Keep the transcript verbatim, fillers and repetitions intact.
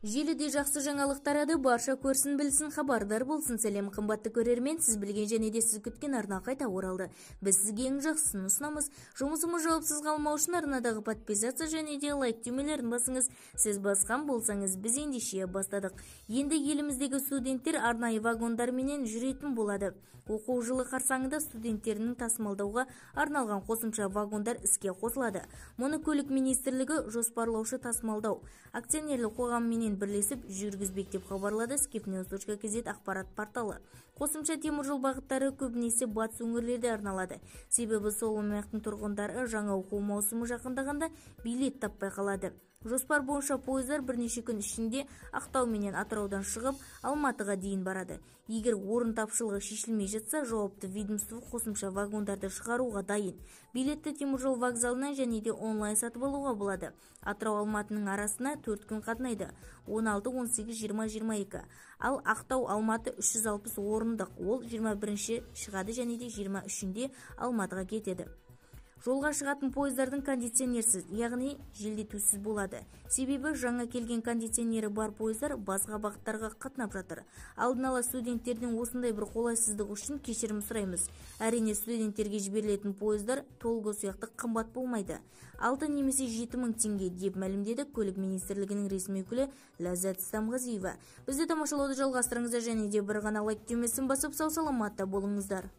Желіде жақсы жаңалық тарады, барша көрсін білсін, хабардар болсын. Сәлем қымбатты көрермен, сіз білген және де сіз күткен арна қайта оралды. Біз сізге ең жақсысын ұсынамыз. Жұмысымыз жауапсыз қалмау үшін арнадағы подписация және де лайк түймелерін басыңыз. Сіз басқан болсаңыз, біз ендеше бастадық. Енді еліміздегі студенттер арнайы вагондарменен жүретін болады. Оқу жылы қарсаңында студенттерінің тасымалдауға арналған қосымша вагондар іске қосылады. Мұны көлік министрлігі жоспарлаушы тасымалдау акционерлік қоғамымен бірлесіп жүргізбек деп хабарлады skifnews точка kz ақпарат порталы. Қосымша теміржол бағыттары көбінесе батыс өңірлерде арналады. Себебі сол аймақтың тұрғындары жаңа оқу маусымы жақындағанда билет таппай қалады. Жоспар бойынша пойыздар бірнеше күн ішінде Ақтау менен Атыраудан шығып, Алматыға дейін барады. Егер орын тапшылығы шешілмей жатса, жауапты ведомство қосымша вагондарды шығаруға дайын. Билетті теміржол вокзалынан және де онлайн сатып алуға болады. Атырау Алматының арасына төрт күн қатынайды. он алты, он сегіз, жиырма, жиырма екі. Ал Ақтау Алматы үш жүз алпыс орындық. Ол жиырма бірінші шығады және де жиырма үшінде Алматыға кетеді. Жолға шығатын пойыздардың кондиционерсіз, яғни желдетусіз болады. Себебі жаңа келген кондиционері бар пойыздар басқа бағыттарға қатынап жатыр. Алдын ала студенттердің осындай бір қолайсыздық үшін кешірім сұраймыз. Әрине студенттерге жіберілетін пойыздар толғы сияқты қымбат болмайды. алты немесе жеті мың теңге деп мәлімдеді көлік министрлігінің ресми өкілі Ләззат Стамғазиева. Бізді тамашалауды жалғастырыңыздар және де бір ғана лайк түймесін басып сау саламатта болыңыздар.